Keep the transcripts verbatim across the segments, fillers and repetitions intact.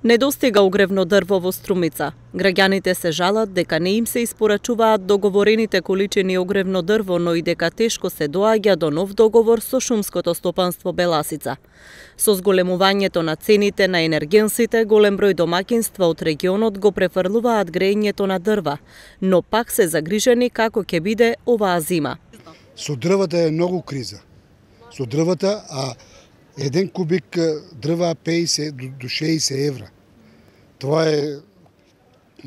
Недостига огревно дрво во Струмица. Граѓаните се жалат дека не им се испорачуваат договорените количини огревно дрво, но и дека тешко се доаѓа до нов договор со шумското стопанство Беласица. Со зголемувањето на цените на енергенсите, голем број домаќинства од регионот го префрлуваат грејењето на дрва, но пак се загрижени како ќе биде оваа зима. Со дрвата е многу криза. Со дрвата, а еден кубик дрва пеесет до шеесет евра. Тоа е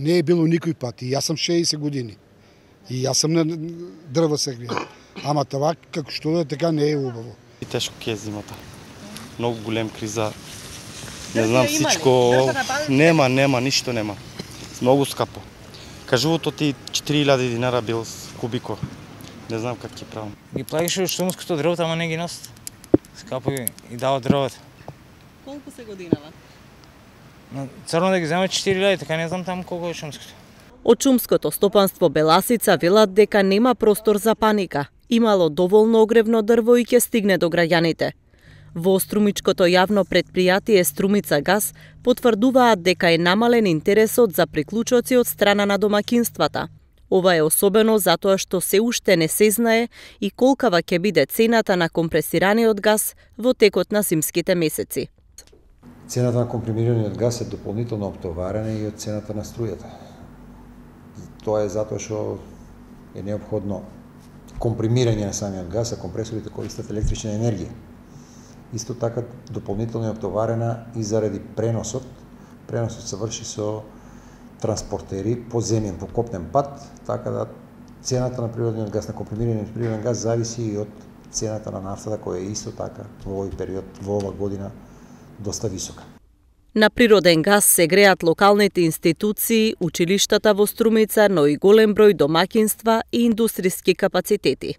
не е било никој пат. И јас сум шеесет години. И јас сум на дрва се греем. Ама това како што да така не е убаво. И тешко ќе е зимата. Многу голем криза. Не знам всичко. Нема, нема, ништо нема. Многу скапо. Кажувото ти четири илјади динара бил кубико. Не знам как ќе правам. Ги плаќаше шумското дрво, ама не ги носат. Скапо и дава дрвата. Колку се годинава? Но црно да ги земат четири илјади, така не знам таму колку е шумското. Од шумското стопанство Беласица велат дека нема простор за паника. Имало доволно огревно дрво и ќе стигне до граѓаните. Во Струмичкото јавно предпријатие Струмица газ потврдуваат дека е намален интересот за приклучоци од страна на домаќинствата. Ова е особено затоа што се уште не се знае и колкава ќе биде цената на компресираниот газ во текот на зимските месеци. Цената на компримираниот газ е дополнително оптоварена и од цената на струјата. Тоа е затоа што е неопходно компримирање на самиот газ, а компресорите користат електрична енергија. Исто така дополнително е оптоварена и заради преносот. Преносот се врши со транспортери по земјен, по копнен пат, така да цената на природниот газ, на компримираниот природен газ зависи и од цената на нафтата, која е исто така во овој период, во ова година, доста висока. На природен газ се греат локалните институции, училиштата во Струмица, но и голем број домаќинства и индустријски капацитети.